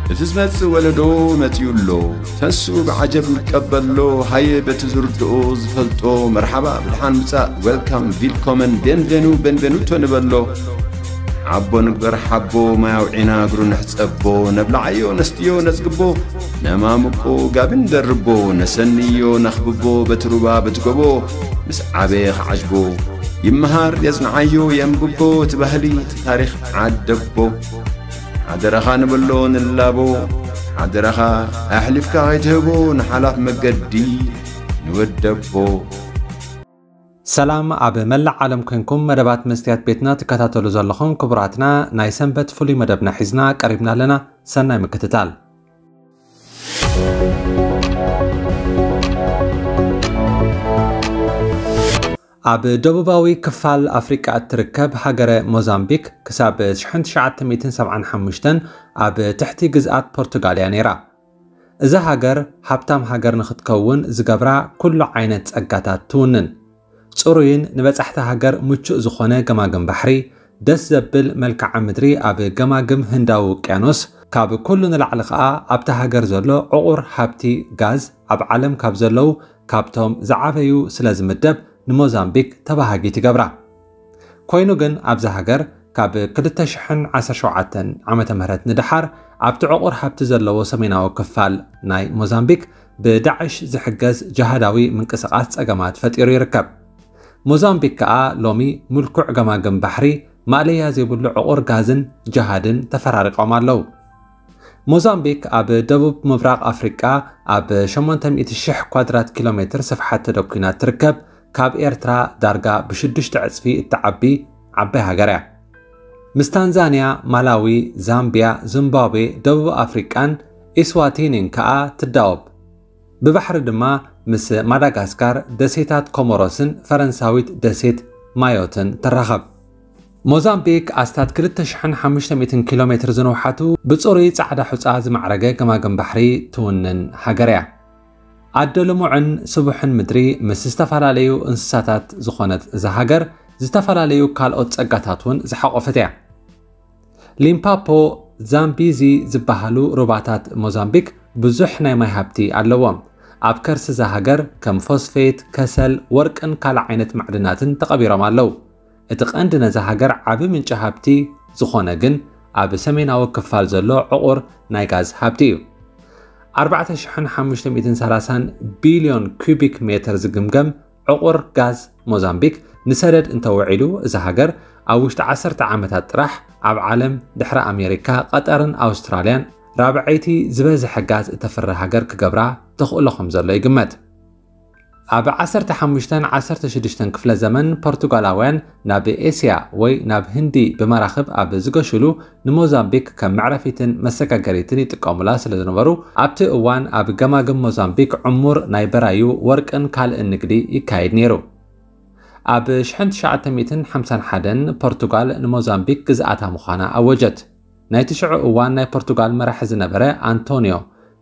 እቲ ዝመጽእ ወለዶ መጺኡ ኣሎ። ተንስኡ ብዓጀብ ንቀበሎ። ሃየ በቲ ዝርድኦ ዝፈልጦ መርሓባ ብድሓን ምጻእ፣ ዌልካም፣ ቪልኮመን፣ ቤንቬኑ፣ ቤንቬኑቶ ንበሎ። ሓቦ ንግበር ሓቦ፣ ማይ ኣውዒና እግሩ ንሕጸቦ። ነብልዓዮ ነስትዮ ነጽግቦ፣ ነማምቆ ጋቢ ንደርቦ። ነሰንዮ ነኽብቦ በቲ ሩባ በቲ ጎቦ። ምስ ዓበየ ክዓጅቦ፣ ይመሃር የጽንዓዮ የንብቦ። እቲ ባህሊ እቲ ታሪኽ ዓደቦ። ሓደራኻ ንበሎ ንላቦ፣ ሓደራኻ ኣሕሊፍካ ከይትህቦ ንሓላፍ መገዲ ንወደቦ። ሰላም ኣብ መላእ ዓለም ኮንኩም መደባት መስትያት ቤትና ትከታተሉ ዘለኹም ክቡራትና፣ ናይ ሰንበት ፍሉይ መደብና ሒዝና ቀሪብና ኣለና። ሰናይ ምክትታል። ኣብ ደቡባዊ ክፋል ኣፍሪቃ እትርከብ ሃገረ ሞዛምቢክ ክሳብ ሽሕን ትሽዓተ ሚእትን ሰብዓን ሓሙሽተን ኣብ ትሕቲ ግዝኣት ፖርቱጋል እያ ነይራ። እዛ ሃገር ሃብታም ሃገር ንኽትከውን ዝገብራ ኩሉ ዓይነት ጸጋታት ትውንን። ጽሩይን ንበጻሕቲ ሃገር ምቹእ ዝኾነ ገማግም ባሕሪ፣ ደስ ዘብል መልክዓ ምድሪ ኣብ ገማግም ህንዳዊ ውቅያኖስ፣ ካብ ኩሉ ንላዕሊ ኸኣ ኣብታ ሃገር ዘሎ ዕቑር ሃብቲ ጋዝ ኣብ ዓለም ካብ ዘለዉ ካብቶም ዝዓበዩ ስለ ዝምደብ ንሞዛምቢክ ተባሃጊት ይገብራ። ኮይኑ ግን ኣብዛ ሃገር ካብ ክልተ ሽሕን ዓሰርተ ሸውዓተን ዓመተ ምህረት ንደሓር ኣብቲ ዕቑር ሃብቲ ዘለዎ ሰሜናዊ ክፋል ናይ ሞዛምቢክ ብዳዕሽ ዝሕገዝ ጅሃዳዊ ምንቅስቓስ ጸገማት ፈጢሩ ይርከብ። ሞዛምቢክ ከኣ ሎሚ ምልኩዕ ገማግም ባሕሪ ማእለያ ዘይብሉ ዕቑር ጋዝን ጅሃድን ተፈራሪቖም ኣለዉ። ሞዛምቢክ ኣብ ደቡብ ምብራቕ ኣፍሪቃ ኣብ ሸሞንተ ሚእቲ ሽሕ ኳድራት ኪሎ ሜትር ስፍሓት ተደኲና ትርከብ፣ ካብ ኤርትራ ዳርጋ ብሽዱሽተ ዕጽፊ እትዓቢ ዓባይ ሃገር እያ። ምስ ታንዛንያ፣ ማላዊ፣ ዛምቢያ፣ ዚምባብዌ፣ ደቡብ ኣፍሪቃን ኢስዋቲኒን ከኣ ትዳወብ። ብባሕሪ ድማ ምስ ማዳጋስካር፣ ደሴታት ኮሞሮስን ፈረንሳዊት ደሴት ማዮትን ትራኸብ። ሞዛምቢክ ኣስታት ክልተ ሽሕን ሓሙሽተ ሚእትን ኪሎ ሜትር ዝንውሓቱ ብጽሩይ ጻዕዳ ሑጻ ዝማዕረገ ገማግም ባሕሪ ትውንን ሃገር እያ። ኣደ ልሙዕን ስቡሕን ምድሪ ምስ ዝተፈላለዩ እንስሳታት ዝኾነት እዛ ሃገር፣ ዝተፈላለዩ ካልኦት ጸጋታት እውን ዝሓቖፈት እያ። ሊምፓፖ፣ ዛምቢዚ ዝበሃሉ ሩባታት ሞዛምቢክ ብዙሕ ናይ ማይ ሃብቲ ኣለዎም። ኣብ ከርሲ እዛ ሃገር ከም ፎስፌት፣ ከሰል፣ ወርቅን ካልእ ዓይነት ማዕድናትን ተቐቢሮም ኣለዉ። እቲ ቀንዲ ነዛ ሃገር ዓቢ ምንጪ ሃብቲ ዝኾነ ግን ኣብ ሰሜናዊ ክፋል ዘሎ ዕቑር ናይ ጋዝ ሃብቲ እዩ። ኣርባዕተ ሽሕን ሓሙሽተ ሚእትን ሰላሳን ቢልዮን ኪዩቢክ ሜትር ዝግምገም ዕቑር ጋዝ ሞዛምቢክ ንሰደድ እንተውዒሉ፣ እዛ ሃገር ኣብ ውሽጢ ዓሰርተ ዓመታት ጥራሕ ኣብ ዓለም ድሕሪ ኣሜሪካ፣ ቀጠርን ኣውስትራልያን ራብዐይቲ ዝበዝሐ ጋዝ እተፍሪ ሃገር ክገብራ ተኽእሎ ከም ዘሎ ይግመት። ኣብ ዓሰርተ ሓሙሽተን ዓሰርተ ሽዱሽተን ክፍለ ዘመን ፖርቱጋላውያን ናብ ኤስያ ወይ ናብ ህንዲ ብመራኽብ ኣብ ዝገሹሉ ንሞዛምቢክ ከም መዕረፊትን መሰጋገሪትን ይጥቀሙላ ስለ ዝነበሩ፣ ኣብቲ እዋን ኣብ ገማግም ሞዛምቢክ ዕሙር ናይ በራዩ፣ ወርቅን ካልእን ንግዲ ይካየድ ነይሩ። ኣብ ሽሕን ትሽዓተ ሚእትን ሓምሳን ሓደን ፖርቱጋል ንሞዛምቢክ ግዝኣታ ምዃና ኣወጀት። ናይቲ ሽዑ እዋን ናይ ፖርቱጋል መራሒ ዝነበረ ኣንቶንዮ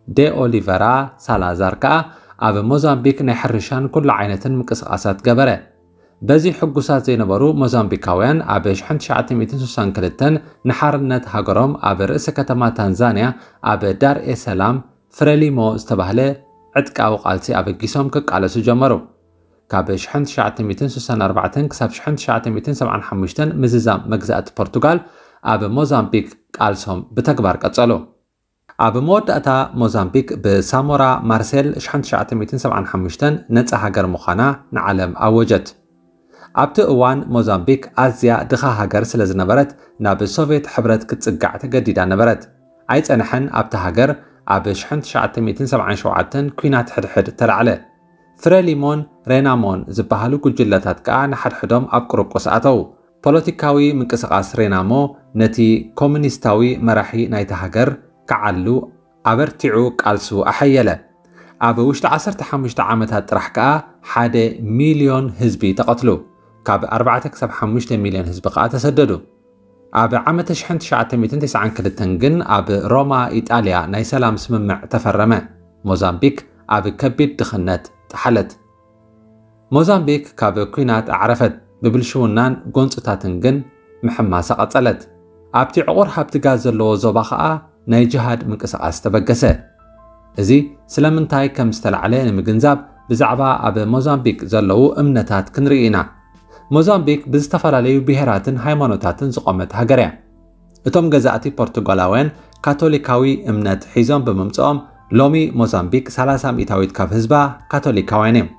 ደ ኦሊቨራ ሳላዛር ከኣ ኣብ ሞዛምቢክ ናይ ሕርሻን ኩሉ ዓይነትን ምንቅስቓሳት ገበረ። በዚ ሕጉሳት ዘይነበሩ ሞዛምቢካውያን ኣብ ሽሕን ትሽዓተ ሚእትን ስሳን ክልተን ንሓርነት ሃገሮም ኣብ ርእሲ ከተማ ታንዛንያ ኣብ ዳር ኤ ሰላም ፍረሊሞ ዝተባህለ ዕጥቃዊ ቃልሲ ኣበጊሶም ክቃለሱ ጀመሩ። ካብ ሽሕን ትሽዓተ ሚእትን ስሳን ኣርባዕተን ክሳብ ሽሕን ትሽዓተ ሚእትን ሰብዓን ሓሙሽተን ምዝዛም መግዛእቲ ፖርቱጋል ኣብ ሞዛምቢክ ቃልሶም ብተግባር ቀጸሉ። ኣብ መወዳእታ ሞዛምቢክ ብሳሞራ ማርሴል ሽሕን ትሽዓተ ሚእትን ሰብዓን ሓሙሽተን ነጻ ሃገር ምዃና ንዓለም ኣወጀት። ኣብቲ እዋን ሞዛምቢክ ኣዝያ ድኻ ሃገር ስለ ዝነበረት ናብ ሶቭየት ሕብረት ክትጽጋዕ ተገዲዳ ነበረት። ኣይጸንሐን ኣብታ ሃገር ኣብ ሽሕን ትሽዓተ ሚእትን ሰብዓን ሸውዓተን ኲናት ሕድሕድ ተላዕለ። ፍረሊሞን ሬናሞን ዝበሃሉ ጉጅለታት ከኣ ንሓድሕዶም ኣብ ቁርቁስ ኣተዉ። ፖለቲካዊ ምንቅስቓስ ሬናሞ ነቲ ኮሙኒስታዊ መራሒ ናይታ ሃገር ክዓሉ ኣበርቲዑ ቃልሱ ኣሐየለ። ኣብ ውሽጢ ዓሰርተ ሓሙሽተ ዓመታት ጥራሕ ከኣ ሓደ ሚልዮን ህዝቢ ተቐትሉ። ካብ ኣርባዕተ ክሳብ ሓሙሽተ ሚልዮን ህዝቢ ከኣ ተሰደዱ። ኣብ ዓመተ ሽሕን ትሽዓተ ሚእትን ተስዓን ክልተን ግን ኣብ ሮማ ኢጣልያ ናይ ሰላም ስምምዕ ተፈረመ። ሞዛምቢክ ኣብ ከቢድ ድኽነት ጠሓለት። ሞዛምቢክ ካብ ኲናት ኣዕረፈት፣ ብብልሽውናን ጎንጽታትን ግን ምሕማሳ ቀጸለት። ኣብቲ ዕቑር ሃብቲ ጋዝ ዘለዎ ዞባ ኸኣ ናይ ጅሃድ ምንቅስቓስ ተበገሰ። እዚ ስለምንታይ ከም ዝተላዕለ ንምግንዛብ ብዛዕባ ኣብ ሞዛምቢክ ዘለዉ እምነታት ክንርኢ ኢና። ሞዛምቢክ ብዝተፈላለዩ ብሄራትን ሃይማኖታትን ዝቖመት ሃገር እያ። እቶም ገዛእቲ ፖርቱጋላውያን ካቶሊካዊ እምነት ሒዞም ብምምጽኦም፣ ሎሚ ሞዛምቢክ ሰላሳ ሚእታዊት ካብ ህዝባ ካቶሊካውያን እዮም።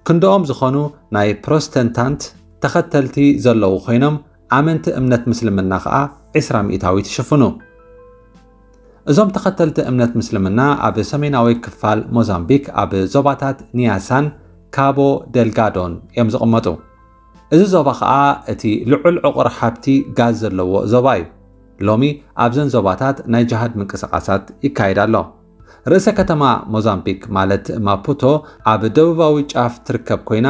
ክንድኦም ዝኾኑ ናይ ፕሮስተንታንት ተኸተልቲ ዘለዉ ኮይኖም፣ ኣመንቲ እምነት ምስልምና ኸኣ ዕስራ ሚእታዊት ይሽፍኑ። እዞም ተኸተልቲ እምነት ምስልምና ኣብ ሰሜናዊ ክፋል ሞዛምቢክ ኣብ ዞባታት ኒያሳን ካቦ ደልጋዶን እዮም ዝቕመጡ። እዚ ዞባ ኸኣ እቲ ልዑል ዕቑር ሃብቲ ጋዝ ዘለዎ ዞባ እዩ። ሎሚ ኣብዘን ዞባታት ናይ ጅሃድ ምንቅስቓሳት ይካየድ ኣሎ። ርእሰ ከተማ ሞዛምቢክ ማለት ማፑቶ ኣብ ደቡባዊ ጫፍ ትርከብ ኮይና፣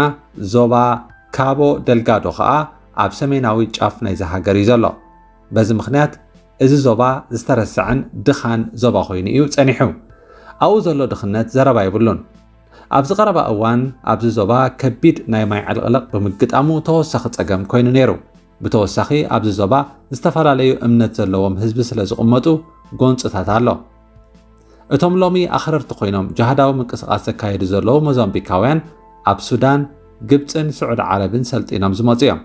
ዞባ ካቦ ደልጋዶ ኸኣ ኣብ ሰሜናዊ ጫፍ ናይዛ ሃገር እዩ ዘሎ። በዚ ምኽንያት እዚ ዞባ ዝተረስዐን ድኻን ዞባ ኮይኑ እዩ ጸኒሑ። ኣብኡ ዘሎ ድኽነት ዘረባ የብሉን። ኣብዚ ቀረባ እዋን ኣብዚ ዞባ ከቢድ ናይ ማይ ዕልቕልቕ ብምግጣሙ ተወሳኺ ጸገም ኮይኑ ነይሩ። ብተወሳኺ ኣብዚ ዞባ ዝተፈላለዩ እምነት ዘለዎም ህዝቢ ስለ ዝቕመጡ ጎንጽታት ኣሎ። እቶም ሎሚ ኣኽረርቲ ኮይኖም ጅሃዳዊ ምንቅስቓስ ዘካየዱ ዘለዉ ሞዛምቢካውያን ኣብ ሱዳን፣ ግብጽን ስዑዲ ዓረብን ሰልጢኖም ዝመጹ እዮም።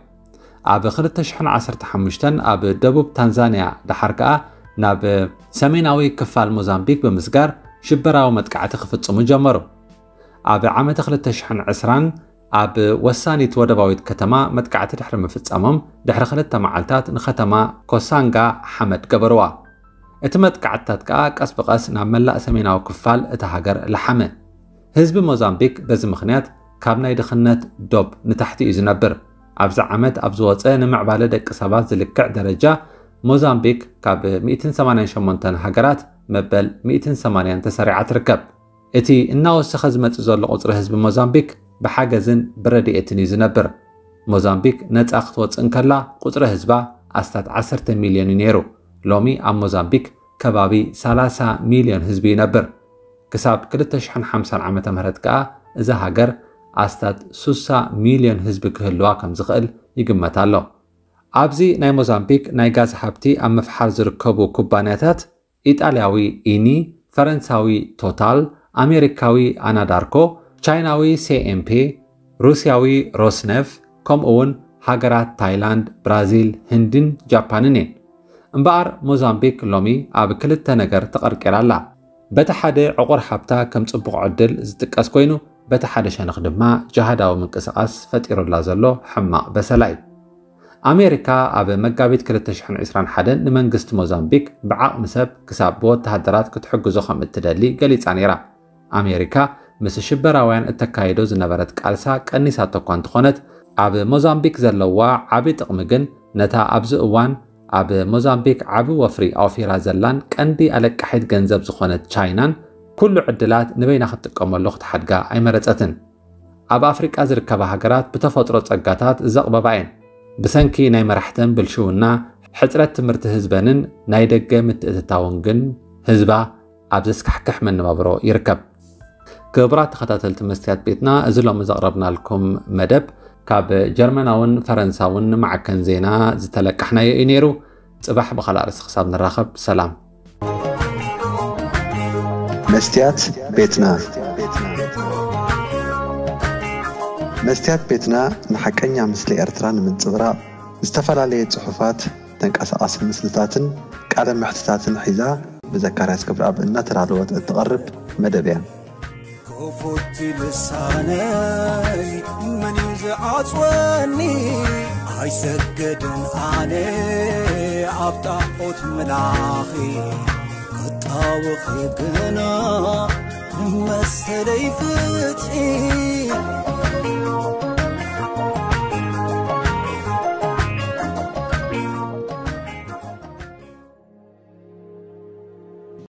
ኣብ ክልተ ሽሕን ዓሰርተ ሓሙሽተን ኣብ ደቡብ ታንዛንያ፣ ደሓር ከኣ ናብ ሰሜናዊ ክፋል ሞዛምቢክ ብምስጋር ሽበራዊ መጥቃዕቲ ክፍጽሙ ጀመሩ። ኣብ ዓመተ ክልተ ሽሕን ዕስራን ኣብ ወሳኒት ወደባዊት ከተማ መጥቃዕቲ ድሕሪ ምፍጻሞም፣ ድሕሪ ክልተ መዓልታት ንከተማ ኮሳንጋ ሓመድ ገበርዋ። እቲ መጥቃዕትታት ከኣ ቀስ ብቐስ ናብ መላእ ሰሜናዊ ክፋል እታ ሃገር ለሓመ። ህዝቢ ሞዛምቢክ በዚ ምኽንያት ካብ ናይ ድኽነት ዶብ ንታሕቲ እዩ ዝነብር። ኣብዚ ዓመት ኣብ ዝወጸ ንምዕባለ ደቂ ሰባት ዝልክዕ ደረጃ፣ ሞዛምቢክ ካብ ሚእትን ሰማንያን ሸሞንተን ሃገራት መበል ሚእትን ሰማንያን ተሰሪዓ ትርከብ። እቲ እናወሰኸ ዝመጽእ ዘሎ ቁጽሪ ህዝቢ ሞዛምቢክ ብሓገዝን ብረድኤትን እዩ ዝነብር። ሞዛምቢክ ነጻ ክትወጽእ እንከላ፣ ቁጽሪ ህዝባ ኣስታት ዓሰርተ ሚልዮን እዩ ነይሩ። ሎሚ ኣብ ሞዛምቢክ ከባቢ ሰላሳ ሚልዮን ህዝቢ ይነብር። ክሳብ ክልተ ሽሕን ሓምሳን ዓመተ ምህረት ከኣ፣ እዛ ሃገር ኣስታት ሱሳ ሚልዮን ህዝቢ ክህልዋ ከም ዝኽእል ይግመት ኣሎ። ኣብዚ ናይ ሞዛምቢክ ናይ ጋዝ ሃብቲ ኣብ ምፍሓር ዝርከቡ ኩባንያታት፣ ኢጣልያዊ ኢኒ፣ ፈረንሳዊ ቶታል፣ ኣሜሪካዊ ኣናዳርኮ፣ ቻይናዊ ሲ ኤም ፒ፣ ሩስያዊ ሮስነፍ፣ ከምኡ እውን ሃገራት ታይላንድ፣ ብራዚል፣ ህንድን ጃፓንን እየን። እምበኣር ሞዛምቢክ ሎሚ ኣብ ክልተ ነገር ተቐርቂራ ኣላ። በቲ ሓደ ዕቑር ሃብታ ከም ጽቡቕ ዕድል ዝጥቀስ ኮይኑ፣ በቲ ሓደ ሸነኽ ድማ ጅሃዳዊ ምንቅስቓስ ፈጢሩላ ዘሎ ሕማቕ በሰላ እዩ። ኣሜሪካ ኣብ መጋቢት ክልተ ሽሕን ዕስራን ሓደን ንመንግስቲ ሞዛምቢክ ብዓቕሚ ሰብ ክሳብ ብወተሃደራት ክትሕግዞ ከም እትደሊ ገሊጻ ነይራ። ኣሜሪካ ምስ ሽበራውያን እተካይዶ ዝነበረት ቃልሳ ቀኒሳቶ እኳ እንተኾነት፣ ኣብ ሞዛምቢክ ዘለዋ ዓቢ ጥቕሚ ግን ነታ ኣብዚ እዋን ኣብ ሞዛምቢክ ዓቢ ወፍሪ ኣውፊራ ዘላን ቀንዲ ኣለቃሒት ገንዘብ ዝኾነት ቻይናን ኩሉ ዕድላት ንበይና ክትጥቀመሉ ክትሓድጋ ኣይመረጸትን። ኣብ ኣፍሪቃ ዝርከባ ሃገራት ብተፈጥሮ ጸጋታት ዘቕበባ እየን። ብሰንኪ ናይ መራሕተን ብልሽውና፣ ሕጽረት ትምህርቲ ህዝበንን ናይ ደገ ምትእትታውን ግን ህዝባ ኣብ ዘስካሕክሕ መነባብሮ ይርከብ። ክቡራት ተኸታተልቲ መስትያት ቤትና፣ እዚ ሎሚ ዘቕረብናልኩም መደብ ካብ ጀርመናውን ፈረንሳውን ማዕከን ዜና ዝተለቃሕናዮ እዩ ነይሩ። ጽባሕ ብኻልእ ኣርእስቲ ክሳብ ንራኸብ፣ ሰላም። መስትያት ቤትና። መስትያት ቤትና ንሓቀኛ ምስሊ ኤርትራ ንምንጽብራቕ ዝተፈላለየ ጽሑፋት፣ ተንቀሳቓሲ ምስልታትን ቃለ መሕትታትን ሒዛ ብዘካርያስ ክብረኣብ እናተዳለወት እትቐርብ መደብ እያ። ክፉት ልሳነይ መን እዩ ዝዓጽወኒ? ኣይሰግድን ኣነ ኣብ ጣዖት ምላኺ፣ ክጣወኺ ግና ንመሰለይ ፍትሒ።